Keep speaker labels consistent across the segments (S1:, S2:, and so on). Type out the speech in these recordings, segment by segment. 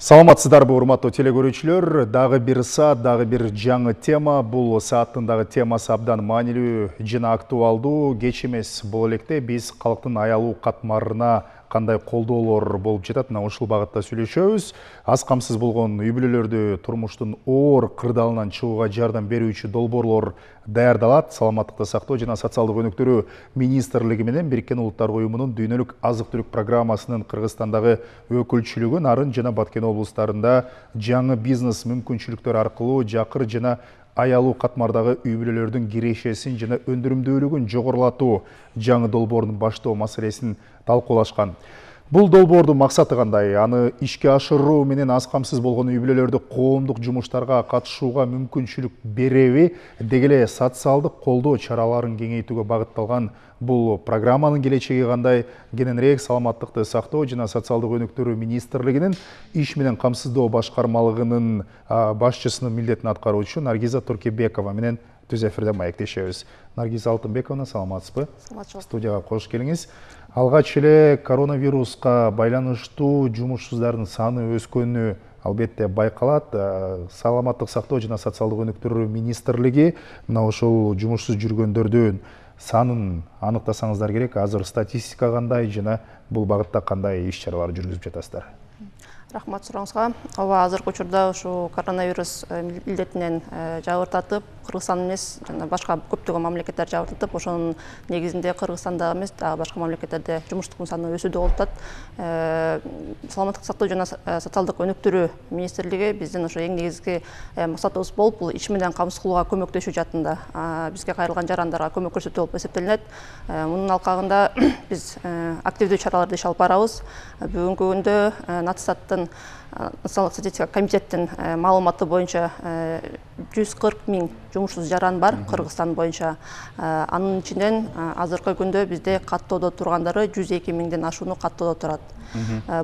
S1: Саламатсыздарбы, урматтуу телекөрүүчүлөр. Дагы бир саат, дагы бир жаңы тема. Бул сааттын дагы темасы абдан маанилүү жана актуалдуу. Кеч эмес бул электе биз калктын аялуу катмарына кандай колдоолор болуп жатат, мына ушул багытта сүйлөшөбүз. Аз камсыз болгон үй бүлөлөрдү турмуштун оор кырдаалынан чыгууга жардам берүүчү долбоорлор даярдалат. Саламаттыкты сактоо жана социалдык өнүктүрүү министрлиги менен Бириккен Улуттар Уюмунун дүйнөлүк азык-түлүк программасынын Кыргызстандагы өкүлчүлүгү Нарын жана Баткен облустарында жаңы бизнес мүмкүнчүлүктөр аркылуу жакыр жана аялуу катмардагы үй бүлөлөрдүн кирешесин жана өндүрүмдүүлүгүн жогорулатуу жаңы долбоорун баштоо маселесин талкуулашкан. Бул долбоордун максаты кандай? Аны ишке ашыруу менен аз камсыз болгон үй бүлөлөрдү коомдук жумуштарга катышууга мүмкүнчүлүк береби, деги эле социалдык колдоо чараларын кеңейтүүгө багытталган бул программанын келечеги кандай? Кененирээк саламаттыкты сактоо жана социалдык өнүктүрүү министрлигинин иш менен камсыздоо башкармалыгынын башчысынын милдетин аткаруучу Наргиза Туркебекова менен түз эфирде маектешебиз. Наргиза Алтынбековна, саламатсызбы? Студияга кош келиңиз. Алгач эле коронавируска байланыштуу жумушсуздардын саны өскөнү албетте байкалат. Саламаттык сактоо жана социалдык өнүктүрүү министрлиги мына ушул жумушсуз жүргөндөрдүн санын аныктасаңыздар керек. Азыр статистика кандай жана бул багытта кандай иш-чаралар жүргүзүп жатасыздар?
S2: Рахмат сурооңузга. Ооба, азыркы учурда ушу коронавирус илдетинен жабыртатып, Кыргызстан эмес, жана башка көптөгөн мамлекеттер жабыртатып, ошонун негизинде Кыргызстанда эмес, дагы башка мамлекеттерде жумуштуктун саны өсүүдө болуп атат. Саламаттык сактоо жана социалдык өнүктүрүү министрлиги биздин ошо эң негизги максатыбыз болуп, бул иш менен камсыз кылууга көмөктөшүү жаатында бизге кайрылган жарандарга көмөк көрсөтүү болуп эсептелинет. Мунун алкагында биз активдүү чараларды иш алып барабыз. Бүгүнкү күндө Натстаттын Националдык статистика комитеттин маалыматы боюнча 140 000 жумушсуз жаран бар Кыргызстан боюнча. Анын ичинен азыркы күндө бизде каттоодо тургандары 102 000ден ашууну каттоодо турат.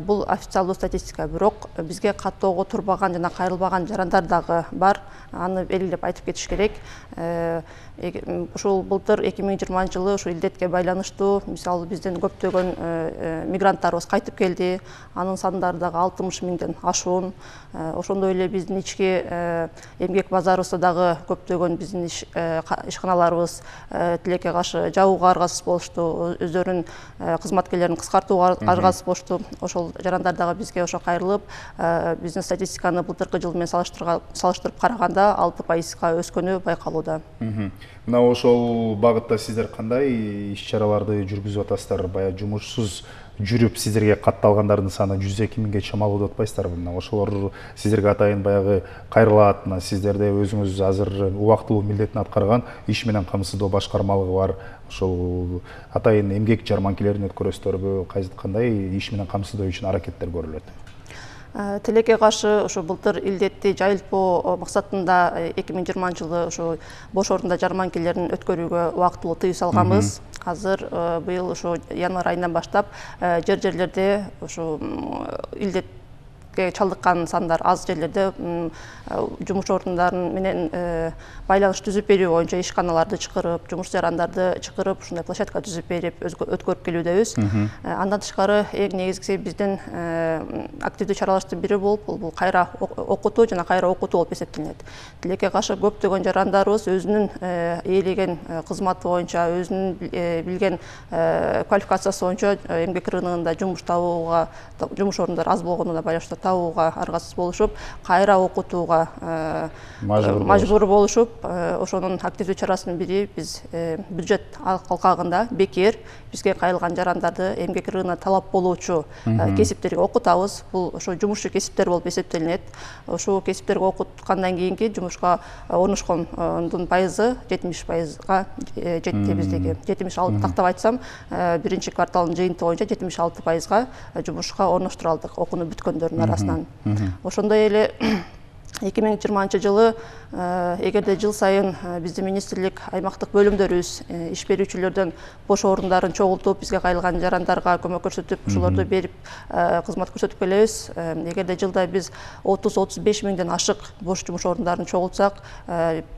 S2: Бул официалдуу статистика, бирок бизге каттоого турбаган жана кайрылбаган жарандар дагы бар. Аны белгилеп айтып кетиш керек. Ушул былтыр 2020 жылы ушу илдетке байланыштуу мисалы бизден көптөгөн мигранттарыбыз кайтып келди. Анын сандары дагы 60 000ден ашуун. Ошондой эле биздин ички эмгек базарыбызда дагы көптөгөн биздин ишканаларыбыз тилекке каршы жабууга аргасыз болушту, өздөрүнүн кызматкерлерин кыскартууга аргасыз болушту. Ошол жарандар дагы бизге ошо кайрылып, биздин статистиканы былтыркы жыл менен салыштырып караганда 6% өскөнү байкалууда.
S1: Мына ошол багытта сиздер кандай иш-чараларды жүргүзүп атасыздар? Баягы жумушсуз жүрүп сиздерге катталгандардын саны 102 000ге чамалуу деп атпайсыздарбы? Мына ошолор сиздерге атайын баягы кайрылат. Мына сиздерде өзүңүз азыр убактылуу милдетин аткарган иш менен камсыздоо башкармалыгы бар. Ошол атайын эмгек жарманкелерин өткөрөсүздөрбү? Кандай иш менен камсыздоо үчүн аракеттер көрүлөт?
S2: Тилекке каршы ошо былтыр илдетти жайылтпоо максатында 2020 жылы ошо бош орунда жарманкелерин өткөрүүгө убактылуу тыюу салганбыз. Азыр быйыл ошо январь айынан баштап жерлерде ошо илдетке чалдыккан сандар аз жерлерде жумуш орундарын менен байланыш түзүп берүү боюнча ишканаларды чакырып, жумуш жарандарды чакырып, ушундай площадка түзүп берип, өткөрүп келүүдөбүз. Андан тышкары эң негизгиси биздин активдүү чараларыбыздын бири болуп, бул кайра окутуу жана кайра окутуу болуп эсептелинет. Тилекке каршы көптөгөн жарандарыбыз өзүнүн ээлеген кызматы боюнча, өзүнүн билген квалификациясы боюнча эмгек рыногунда жумуш табууга, жумуш орундары аз болгонуна байланыштуу табууга аргасыз болушуп, кайра окутууга мажбур болушуп, ошонун активдүү чарасынын бири биз бюджет алкагында бекер бизге кайрылган жарандарды эмгек рыногуна талап болуучу кесиптерге окутабыз. Бул ошо жумушчу кесиптер болуп эсептелинет. Ошол кесиптерге окуткандан кийинки жумушка орношкондун пайызы 70%га жетти биздеги. 76 тактап айтсам, биринчи кварталдын жыйынтыгы боюнча 76%га жумушка орноштура алдык окууну бүткөндөрдүн арасынан. Ошондой эле 2020 жылы эгерде жыл сайын биздин министрлик аймактык бөлүмдөрүбүз иш берүүчүлөрдөн бош орундарын чогултуп бизге кайрылган жарандарга көмөк көрсөтүп ушулорду берип кызмат көрсөтүп келебиз. Эгерде жылда биз 30-35 миңден ашык бош жумуш орундарын чогултсак,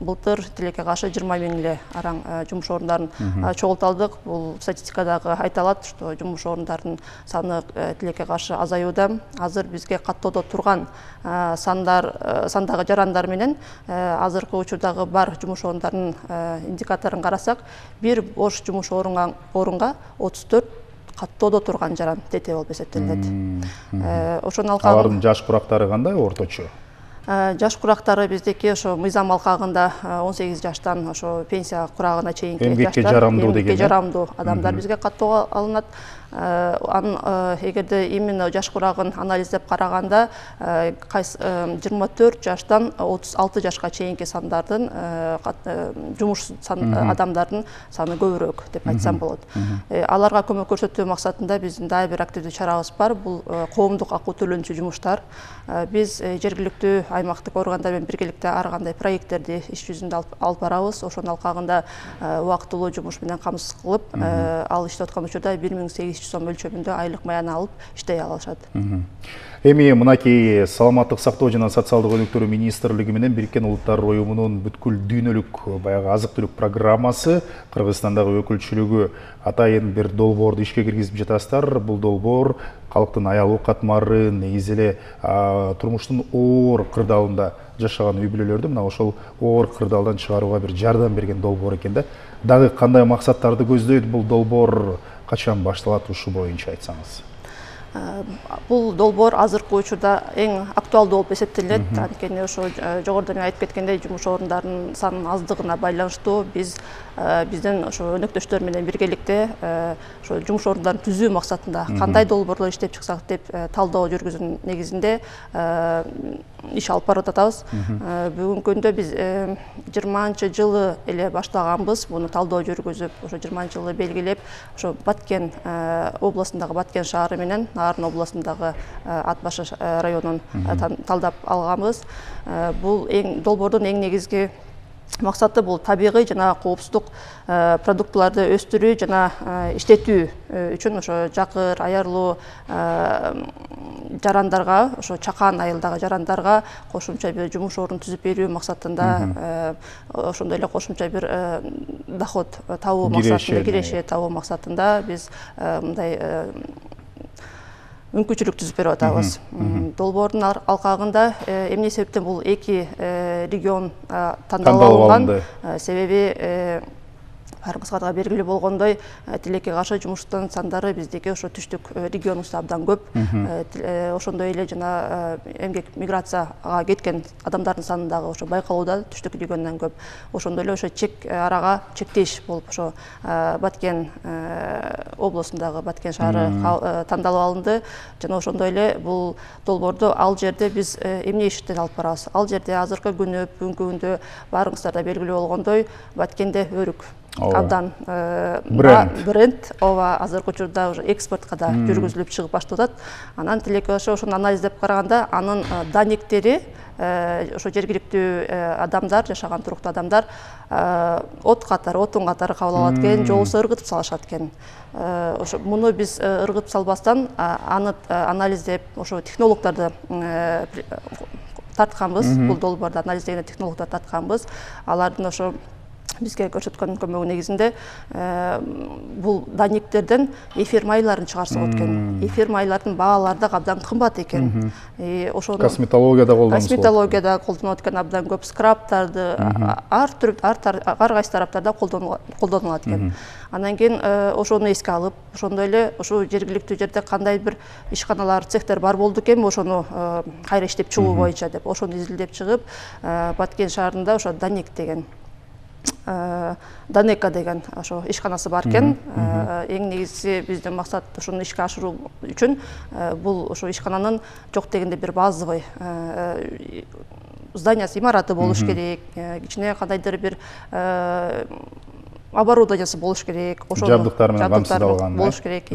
S2: былтыр тилекке каршы 20 миң эле араң жумуш орундарын чогулта алдык. Бул статистикадагы айта что жумуш орундарынын саны тилекке каршы азаюуда. Азыр бизге каттоодо турган сандагы жарандар менен азыркы учурдагы бар жумуш орундарынын индикаторун карасак, бир бош жумуш орунга 34 каттоодо турган жаран тете болуп эсептелет. Ошонун алкагында
S1: алардын жаш курактары кандай орточо?
S2: Жаш курактары биздики ошо мыйзам алкагында 18 жаштан ошо пенсия курагына чейинки
S1: эмгекке жарамдуу деген.
S2: Эмгекке жарамдуу адамдар бизге каттоого алынат. Эгерде именно жаш курагын анализдеп караганда 24 жаштан 36 жашка чейинки сандардын жумуш адамдардын саны көбүрөөк деп айтсам болот. Аларга көмөк көрсөтүү максатында биздин дагы бир активдүү чарабыз бар. Бул коомдук акуу төлөнчү жумуштар. Биз жергиликтүү аймактык органдар менен биргеликте ар кандай проекттерди иш жүзүндө алып барабыз. Ошонун алкагында убактылуу жумуш менен камсыз кылып, ал иштеп аткан учурда 1800 сом өлчөмүндө айлык маяна алып иштей алышат.
S1: Эми мынакей саламаттык сактоо жана социалдык өнүктүрүү министрлиги менен Бириккен Улуттар уюмунун бүткүл дүйнөлүк баягы азык-түлүк программасы Кыргызстандагы өкүлчүлүгү атайын бир долбоорду ишке киргизип жатасыздар. Бул долбоор калктын аялуу катмары, негизи эле турмуштун оор кырдаалында жашаган үй бүлөлөрдү мына ошол оор кырдаалдан чыгарууга бир жардам берген долбоор экен да. Дагы кандай максаттарды көздөйт бул долбоор, качан башталат, ушу боюнча айтсаңыз?
S2: Бул долбоор азыркы учурда эң актуалдуу болуп эсептелет. Анткени ошо жогоруда мен айтып кеткендей жумуш орундарынын санынын аздыгына байланыштуу биздин ошо өнөктөштөр менен биргеликте ошо жумуш орундарын түзүү максатында кандай долбоорлор иштеп чыксак деп талдоо жүргүзүүнүн негизинде иш алып барып атабыз. Бүгүнкү күндө биз 20 жылы эле баштаганбыз. Буну талдоо жүргүзүп, ошо 20 жылы белгилеп, ошо Баткен областындагы Баткен шаары менен Нарын областындагы Ат башы районун талдап алганбыз. Бул долбоордун эң негизги максаты бул табигый жана коопсуздук продуктыларды өстүрүү жана иштетүү үчүн ошо жакыр, аярлуу жарандарга, ошо чакан айылдагы жарандарга кошумча бир жумуш орун түзүп берүү максатында, ошондой эле кошумча бир доход табуу максатында, киреше табуу максатында биз мындай мүмкүнчүлүк түзүп берип атабыз. Долбоордун алкагында эмне себептен бул эки регион тандалып алынган, себеби барыбызга да белгилүү болгондой, тилекке каршы жумуштун сандары биздики ошо түштүк регионубузда абдан көп. Ошондой эле жана эмгек миграцияга кеткен адамдардын саны дагы ошо байкалууда түштүк региондон көп. Ошондой эле ошо чек арага чектеш болуп ошо Баткен областындагы Баткен шаары тандалып алынды. Жана ошондой эле бул долбоорду ал жерде биз эмне иштен алып барабыз? Ал жерде азыркы күнү, бүгүнкү күндө барыңыздарда белгилүү болгондой, Баткенде өрүк абдан бренд, азыркы учурда уже экспортко да жүргүзүлүп чыгып баштап атат. Анан тилекке ошону анализдеп караганда, анын данниктери ошо жергиликтүү адамдар, жашаган туруктуу адамдар отун катары кабыл алат экен, же болбосо ыргытып салышат экен. Ошо муну биз ыргытып салбастан аны анализдеп, ошо технологдорду тартканбыз, бул долбоорду анализдеген технологдорду тартканбыз. Алардын ошо бизге көрсөткөн көмөгү негизинде бул данниктерден эфир майларын чыгарса болот экен. Эфир майлардын баалары да абдан кымбат экен.
S1: Ошону косметологияда
S2: колдонулат экен, абдан көп скрабтарды, ар кайсы тараптарда колдонулат экен. Анан кийин ошону эске алып, ошондой эле ошо жергиликтүү жерде кандай бир ишканалар, цехтер бар болду экенби, ошону кайра иштеп чыгуу боюнча деп, ошону изилдеп чыгып, Баткен шаарында ошо Данек деген Данека деген ошо ишканасы бар экен. Эң негизги биздин максат ошону ишке ашыруу үчүн бул ошо ишкананын жок дегенде бир базовый зданиясы, имараты болуш керек. Кичине кандайдыр бир оборудованиясы болуш керек,
S1: жабдыктар менен камсыздалган
S2: болуш керек.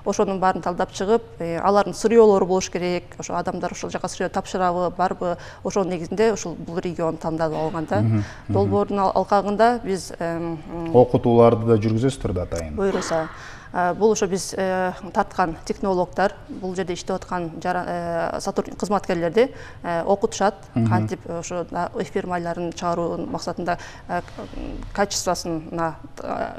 S2: Ошонун баарын талдап чыгып, алардын сырьёолору болуш керек. Ошо адамдар ошол жака сырьё тапшырабы, барбы, ошонун негизинде ушул бул регион тандалып алган да. Долбоордун алкагында биз
S1: окутууларды да жүргүзөсүздөр да атайын.
S2: Буйруса. Бул ошо биз тарткан технологдор, бул жерде иштеп аткан кызматкерлерди окутушат, кантип ошо эфир майларын чыгаруу максатында качествосуна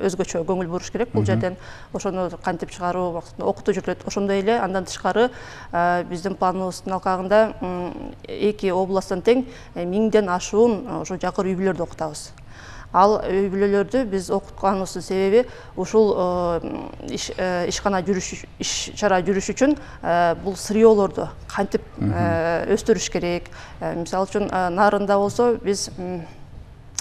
S2: өзгөчө көңүл буруш керек бул жерден. Ошону кантип чыгаруу максатында окутуу жүрүлөт. Ошондой эле андан тышкары биздин планыбыздын алкагында 2 областтан тең 1000ден ашуун ошо жакыр үй бүлөлөрдү окутабыз. Ал үй бүлөлөрдү биз окутканыбыздын себеби ушул иш-чара жүрүш үчүн бул сырьёолорду кантип өстүрүш керек. Мисалы үчүн Нарында болсо биз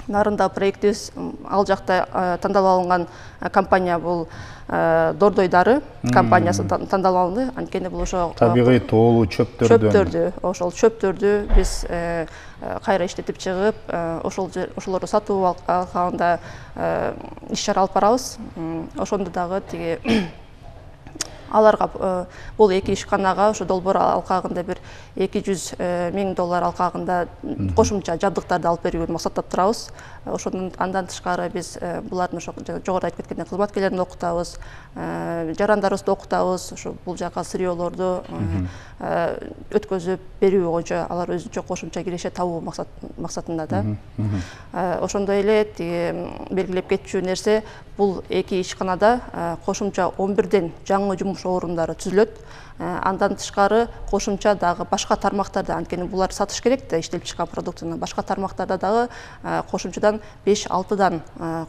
S2: Нарында проектибиз ал жакта тандалып алынган компания бул Дордой дары компаниясы тандалып алынды. Анткени бул ошо
S1: табигый тоолуу
S2: ошол чөптөрдү биз кайра иштетип чыгып, ошолорду сатуу алкагында иш-чара алып барабыз. Ошондо дагы тиги аларга бул 2 ишканага ошо долбоор алкагында бир $200,000 алкагында кошумча жабдыктарды алып берүүгө максаттап турабыз. Андан тышкары биз булардын ошо жогоруда айтып кеткендей кызматкерлерин окутабыз, жарандарыбызды окутабыз, ошо бул жака сырьёолорду өткөзүп берүү боюнча алар өзүнчө кошумча киреше табуу максатында да. Ошондой эле белгилеп кетчү нерсе, бул 2 ишканада кошумча 11ден жаңы жумуш орундары түзүлөт. Андан тышкары кошумча дагы башка тармактарда, анткени булар сатыш керек да иштелип чыккан продуктуну, башка тармактарда дагы кошумчадан 5-6дан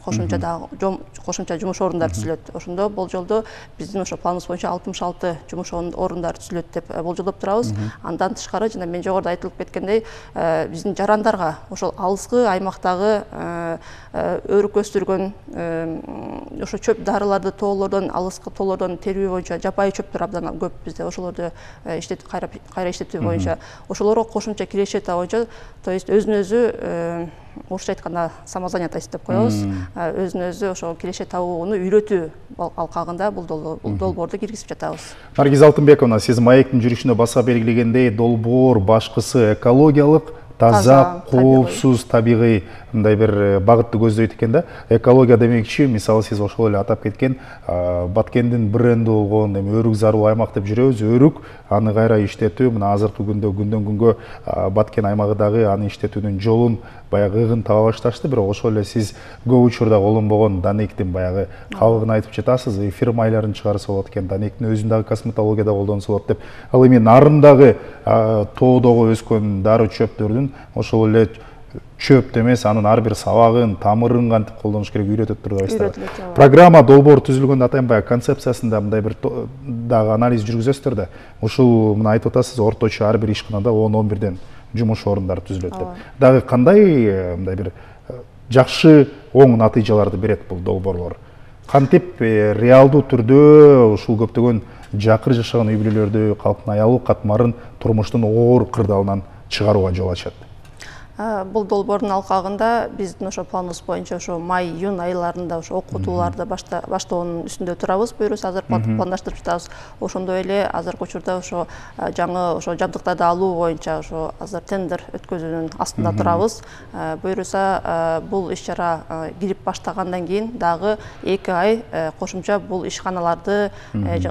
S2: кошумча жумуш орундары түзүлөт. Ошондо болжолдо биздин ошо планыбыз боюнча 66 жумуш орундары түзүлөт деп болжолдоп турабыз. Андан тышкары жана мен жогоруда айтылып кеткендей, биздин жарандарга ошол алыскы аймактагы өрүк өстүргөн ошо чөп дарыларды тоолордон, алыскы тоолордон терүү боюнча жапайы чөптөр абдан көп бизде, ошолорду кайра иштетүү боюнча, ошолорго кошумча кирешета боюнча, то есть өзүн-өзү орусча айтканда самозанятость деп коебуз. Өзүн-өзү ошо киреше табууну үйрөтүү алкагында бул долбоорду киргизип жатабыз.
S1: Наргиз Алтынбековна, сиз маектин жүрүшүндө баса белгилегендей, долбоор башкысы экологиялык, таза, коопсуз, табигый мындай бир багытты көздөйт экен да. Экология демекчи, мисалы сиз ошол эле атап кеткен Баткендин бренди болгон өрүк зарыл аймак деп жүрөбүз. Өрүк аны кайра иштетүү мына азыркы күндө күндөн күнгө Баткен аймагы дагы аны иштетүүнүн жолун баягы ыгын таба башташты. Бирок ошол эле сиз көп учурда колдонбогон Данектин баягы кабыгын айтып жатасыз. Эфир майларын чыгарса болот экен, Данектин өзүн дагы косметологияда колдонсо болот деп. Ал эми Нарындагы тоодогу өскөн дары чөптөрдүн ошол эле чөп эмес, анын ар бир сабагын, тамырын кантип колдонуш керек үйрөтөт турбайсызбы? Программа долбоор түзүлгөндө атайын баягы концепциясында мындай бир дагы анализ жүргүзөсүздөр да. Ушул мына айтып атасыз, орточо ар бир ишканада 10-11ден жумуш орундары түзүлөт деп. Дагы кандай мындай бир жакшы оң натыйжаларды берет бул долбоорлор? Кантип реалдуу түрдө ушул көптөгөн жакыр жашаган үй бүлөлөрдү, калктын аялуу катмарын турмуштун оор кырдаалынан чыгарууга жол ачат?
S2: Бул долбоордун алкагында биздин ошо планыбыз боюнча ошо май-июнь айларында ошо окутууларды баштоонун үстүндө турабыз. Буюрса азыр пландаштырып жатабыз. Ошондой эле азыркы учурда ошо жаңы ошо жабдыктарды алуу боюнча ошо азыр тендер өткөзүүнүн астында турабыз. Буюрса бул иш-чара кирип баштагандан кийин дагы 2 ай кошумча бул ишканаларды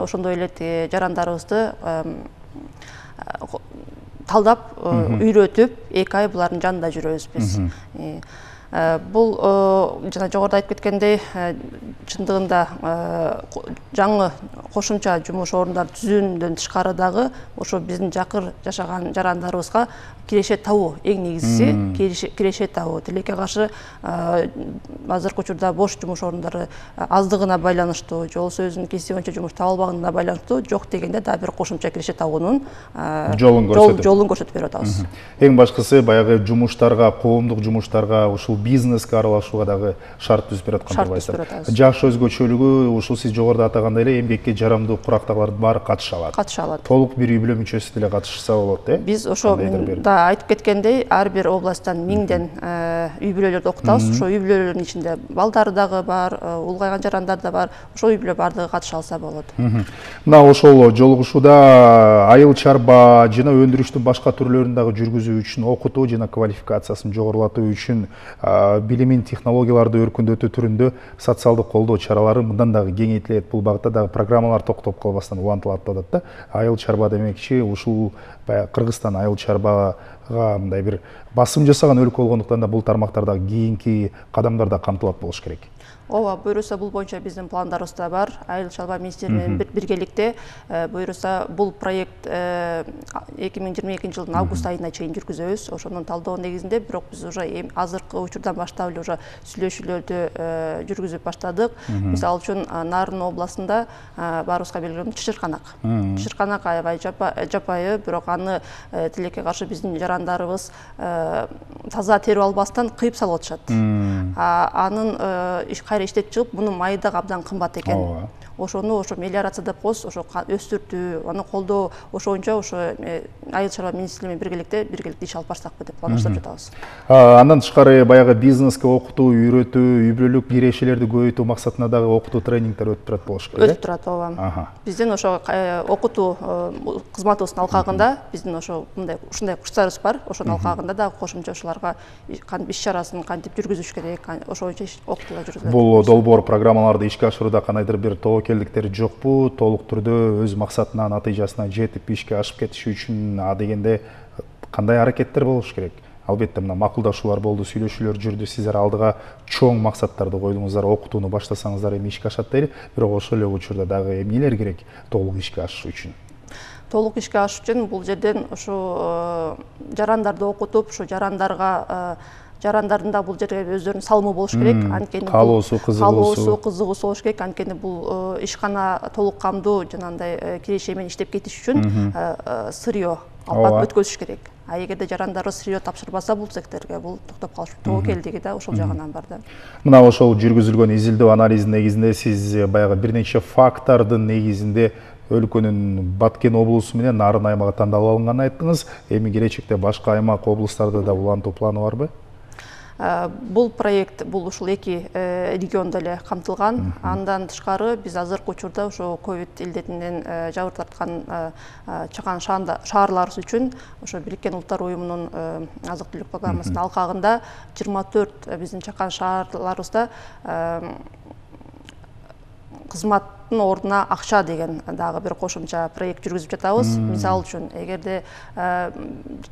S2: ошондой эле жарандарыбызды талдап, үйрөтүп, 2 ай булардын жанында жүрөбүз биз. Бул жана жогоруда айтып кеткендей, чындыгында жаңы кошумча жумуш орундары түзүүнүн тышкары дагы ошо биздин жакыр жашаган жарандарыбызга киреше табуу, эң негизгиси киреше табуу. Тилекке каршы азыркы учурда бош жумуш орундары аздыгына байланыштуу, же болбосо өзүнүн кесиби боюнча жумуш таба албаганына байланыштуу жок дегенде дагы бир кошумча киреше табуунун жолун көрсөтүп берип атабыз.
S1: Эң башкысы баягы жумуштарга, коомдук жумуштарга ушул бизнеске аралашууга дагы шарт түзүп берип аткан
S2: турбайсыздар.
S1: Жаш өзгөчөлүгү ушул сиз жогоруда атагандай эле эмгекке жарамдуу курактагылардын баары катыша алат.
S2: Катыша алат.
S1: Толук бир үй бүлө мүчөсү деле катышса болот,
S2: Биз ошо да айтып кеткендей, ар бир областтан 1000ден үй бүлөлөрдү окутабыз. Ошо үй бүлөлөрдүн ичинде балдары дагы бар, улгайган жарандар да бар. Ошо үй бүлө бардыгы катыша алса болот.
S1: Мына ошол жолугушууда айыл чарба жана өндүрүштүн башка түрлөрүн дагы жүргүзүү үчүн, окутуу жана квалификациясын жогорулатуу үчүн билимин, технологияларды өркүндөтүү түрүндө социалдык колдоо чаралары мындан дагы кеңейтилет. Бул багытта дагы программалар токтоп калбастан улантылат атат да. Айыл чарба демекчи ушул Кыргызстан айыл чарбага мындай бир басым жасаган өлкө болгондуктан да бул тармактарда кийинки кадамдарда камтылат болуш керек.
S2: Ооба, буюрса бул боюнча биздин пландарыбызда бар. Айыл чарба министри менен биргеликте буюрса бул проект 2022 жылдын август айына чейин жүргүзөбүз. Ошонун талдоо негизинде, бирок биз уже азыркы учурдан баштап эле уже сүйлөшүүлөрдү жүргүзүп баштадык. Мисалы үчүн Нарын областында баарыбызга белгилүү Чычырканак. Чычырканак аябай жапайы, бирок аны тилекке каршы биздин жарандарыбыз таза терип албастан кыйып салып атышат. Анын кайра иштеп чыгып, мунун майы да абдан кымбат экен. Ошону мелиорация деп коебуз, ошо өстүртүү, аны колдоо, ошончо айыл чарба министри менен биргеликте иш алып барсакпы деп пландаштырып жатабыз.
S1: Андан тышкары баягы бизнеске окутуу, үйрөтүү, үй бүлөлүк кирешелерди көбөйтүү максатында дагы окутуу тренингдер өтүп турат болуш керек.
S2: Өтүп турат, ооба. Биздин ошо окутуу кызматыбыздын алкагында биздин ушундай курстарыбыз бар. Ошонун алкагында дагы кошумча ушуларга кантип иш чарасын кантип жүргүзүш керек, ошончо окутуулар жүргүзүлөт.
S1: Бул долбоор программаларды ишке ашырууда кандайдыр бир тобокелдиктер жокпу? Толук түрдө өз максатына, натыйжасына жетип ишке ашып кетиши үчүн дегенде кандай аракеттер болуш керек? Албетте мына макулдашуулар болду, сүйлөшүүлөр жүрдү, сиздер алдыга чоң максаттарды койдуңуздар, окутууну баштасаңыздар эми ишке ашат дейли, бирок ошол эле учурда дагы эмнелер керек толук ишке ашыш үчүн?
S2: Толук ишке ашыш үчүн бул жерден ушу жарандарды окутуп, ушу жарандардын да бул жерге өздөрүнүн салымы болуш керек. Анткени
S1: каалоосу,
S2: кызыгуусу болуш керек. Анткени бул ишкана толук камдуу жанагындай киреше менен иштеп кетиш үчүн сырьё алып өткөзүш керек. А эгерде жарандары сырьё тапшырбаса бул секторге, бул токтоп калыш тобокелдиги да ошол жагынан бар да.
S1: Мына ошол жүргүзүлгөн изилдөө анализдин негизинде сиз баягы бир нече фактордун негизинде өлкөнүн Баткен облусу менен Нарын аймагы тандалып алынганын айттыңыз. Эми келечекте башка аймак, облустарды да улантуу планы барбы?
S2: Бул проект бул ушул эки региондо эле камтылган. Андан тышкары биз азыркы учурда ошо ковид илдетинен жабыр тарткан чакан шаарларыбыз үчүн ошо Бириккен Улуттар уюмунун азык-түлүк программасынын алкагында 24 биздин чакан шаарларыбызда кызматтын ордуна акча деген дагы бир кошумча проект жүргүзүп жатабыз. Мисалы үчүн, эгерде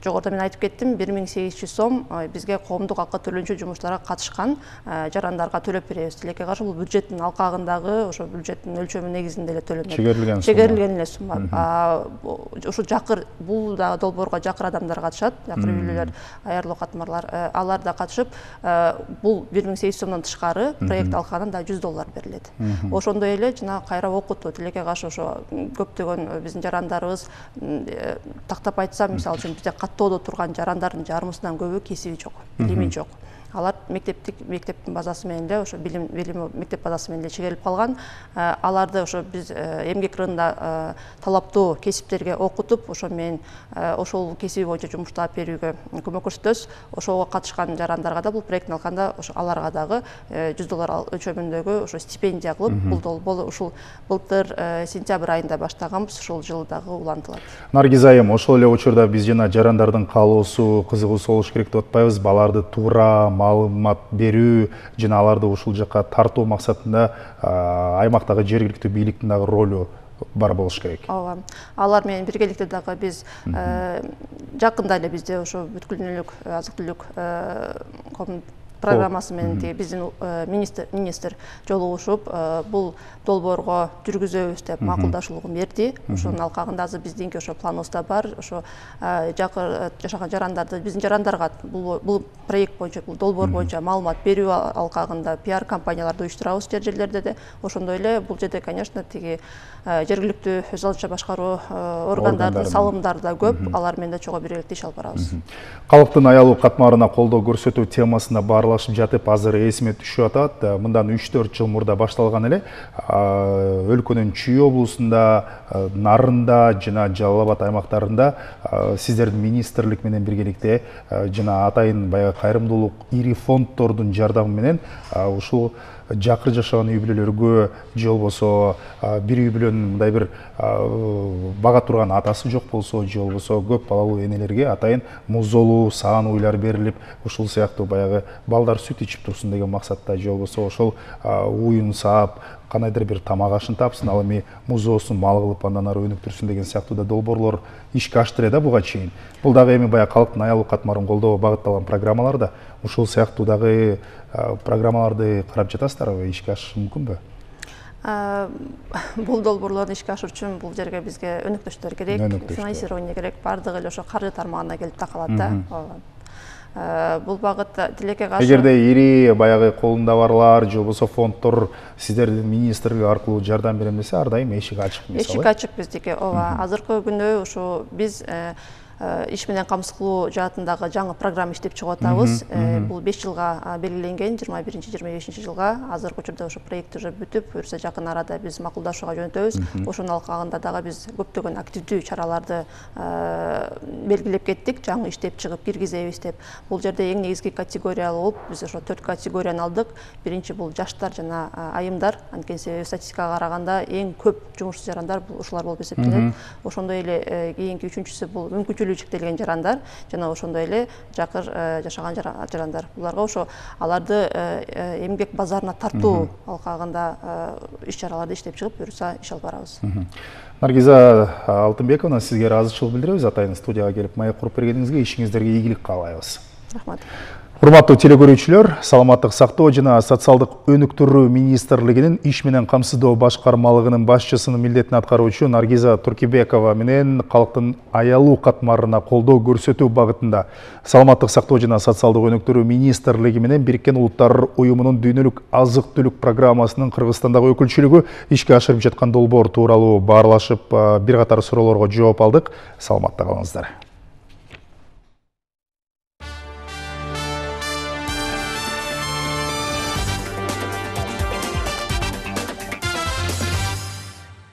S2: жогоруда мен айтып кеттим, 1800 сом бизге коомдук акы төлөнчү жумуштарга катышкан жарандарга төлөп беребиз. Тилекке каршы бул бюджеттин алкагындагы, ошо бюджеттин өлчөмү негизинде эле төлөнөт. Чегерилген эле сумма. Ушу жакыр, бул дагы долбоорго жакыр адамдар катышат, жакыр үй бүлөлөр, аярлуу катмарлар, алар да катышып, бул 1800 сомдон тышкары проект алкагында $100 берилет. Ошондой эле жана кайра окутуу, тилекке каршы ошо көптөгөн биздин жарандарыбыз, тактап айтсам, мисалы үчүн бизде каттоодо турган жарандардын жарымысынан көбү кесиби жок, билими жок. Алар мектептин базасы менен эле ошо билими мектеп базасы менен эле чегерилип калган. Аларды ошо биз эмгек рыногунда талаптуу кесиптерге окутуп, ошо менен ошол кесиби боюнча жумуш таап берүүгө көмөк көрсөтөбүз. Ошого катышкан жарандарга да бул проекттин алкагында ошо аларга дагы $100 өлчөмүндөгү ошо стипендия кылып, бул ушул былтыр сентябрь айында баштаганбыз, ушул жылы дагы улантылат.
S1: Наргиз айым, ошол эле учурда биз жана жарандардын каалоосу, кызыгуусу болуш керек деп атпайбыз, баларды туура маалымат берүү жана аларды ушул жакка тартуу максатында аймактагы жергиликтүү бийликтин дагы ролу бар болуш керек.
S2: Ооба. Алар менен биргеликте дагы биз жакында эле бизде ошо бүткүл дүйнөлүк азык-түлүк программасы менен биздин министр жолугушуп, бул долбоорго жүргүзөбүз деп макулдашуулугун берди. Ошонун алкагында азыр биздинки ошо планыбызда бар. Ошо жакыр жашаган жарандарды, биздин жарандарга бул проект боюнча, бул долбоор боюнча маалымат берүү алкагында пиар кампанияларды уюштурабыз жерлерде де. Ошондой эле бул жерде, конечно, тиги жергиликтүү өз алдынча башкаруу органдардын салымдары да көп. Алар менен да чогуу биргеликте иш алып барабыз.
S1: Калктын аялуу катмарына колдоо көрсөтүү темасында баарлап баалашып жатып азыр эсиме түшүп атат. Мындан 3-4 жыл мурда башталган эле өлкөнүн Чүй облусунда, Нарында жана Жалал Абад аймактарында сиздердин министрлик менен биргеликте жана атайын баягы кайрымдуулук ири фонддордун жардамы менен ушул жакыр жашаган үй бүлөлөргө же болбосо бир үй бүлөнүн мындай бир бага турган атасы жок болсо же болбосо көп балалуу энелерге атайын музолуу саан уйлар берилип, ушул сыяктуу баягы балдар сүт ичип турсун деген максатта же болбосо ошол уюн саап кандайдыр бир тамак ашын тапсын, ал эми музоосун мал кылып андан ары өнүктүрсүн деген сыяктуу да долбоорлор ишке аштыр да буга чейин. Бул дагы эми баягы калктын аялуу катмарын колдоого багытталган программалар да. Ушул сыяктуу дагы программаларды карап жатасыздарбы, ишке ашышы мүмкүнбү?
S2: Бул долбоорлорду ишке ашыруу үчүн бул жерге бизге өнөктөштөр керек, финансирование керек, бардыгы эле ошо каржы тармагына келип такалат да. Бул багыт тилекке каршы.
S1: Эгерде ири баягы колунда барлар же болбосо фонддор сиздердин министрлик аркылуу жардам берем десе, ар дайым эшик ачык мисалы.
S2: Эшик ачык биздики. Ооба, азыркы күндө ушу биз иш менен камсыз кылуу жаатындагы жаңы программа иштеп чыгып атабыз. Бул 5 жылга белгиленген, 21-25 жылга. Азыркы учурда ошо проект уже бүтүп, буюрса жакын арада биз макулдашууга жөнөтөбүз. Ошонун алкагында дагы биз көптөгөн активдүү чараларды белгилеп кеттик, жаңы иштеп чыгып киргизебиз деп. Бул жерде эң негизги категориялуу болуп, биз ошо 4 категорияны алдык. Биринчи бул жаштар жана айымдар. Анткени себеби статистикага караганда эң көп жумушсуз жарандар бул ушулар болуп эсептелет. Ошондой эле кийинки үчүнчүсү бул мүмкүнчүлүгү чектелген жарандар жана ошондой эле жакыр жашаган жарандар. Буларга ошо аларды эмгек базарына тартуу алкагында иш-чараларды иштеп чыгып, буюрса иш алып барабыз.
S1: Наргиза Алтынбековна, сизге ыраазычылык билдиребиз атайын студияга келип маек куруп бергениңизге, ишиңиздерге ийгилик каалайбыз.
S2: Рахмат.
S1: Урматтуу телекөрүүчүлөр, Саламаттык сактоо жана социалдык өнүктүрүү министрлигинин иш менен камсыздоо башкармалыгынын башчысынын милдетин аткаруучу Наргиза Туркибекова менен калктын аялуу катмарына колдоо көрсөтүү багытында Саламаттык сактоо жана социалдык өнүктүрүү министрлиги менен Бириккен Улуттар уюмунун дүйнөлүк азык-түлүк программасынын Кыргызстандагы өкүлчүлүгү ишке ашырып жаткан долбоор тууралуу баарлашып, бир катар суроолорго жооп алдык. Саламатта калыңыздар.